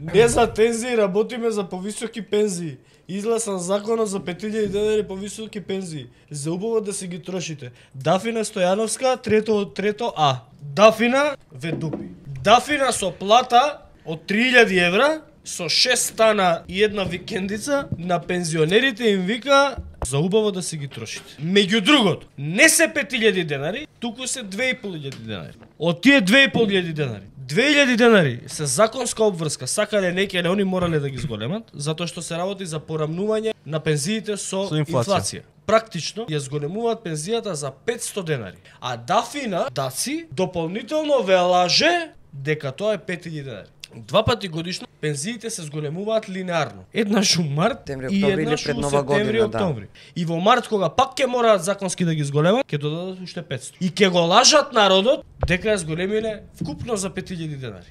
Не за тензии, работиме за повисоки пензии. Изгласан законот за 5000 денари повисоки пензии. За убаво да си ги трошите. Дафина Стојановска, трето А. Дафина ве дупи. Дафина со плата од 3000 евра, со 6 стана и една викендица, на пензионерите им вика за убаво да си ги трошите. Меѓу другото, не се 5000 денари, туку се 2500 денари. Од тие 2500 денари, 2000 денари се законска обврска, сакале неќе они морале да ги зголемат, затоа што се работи за порамнување на пензиите со инфлација. Практично ја зголемуваат пензијата за 500 денари. А Дафина, Даци, дополнително ве лаже дека тоа е 5000 денари. Два пати годишно пензиите се зголемуваат линеарно. Еднаш у март и еднаш у септември, октомври. И во март кога пак ќе мораат законски да ги зголемат, ќе додадат уште 500. И ќе го лажат народот дека ја зголемиле вкупно за 5000 денари.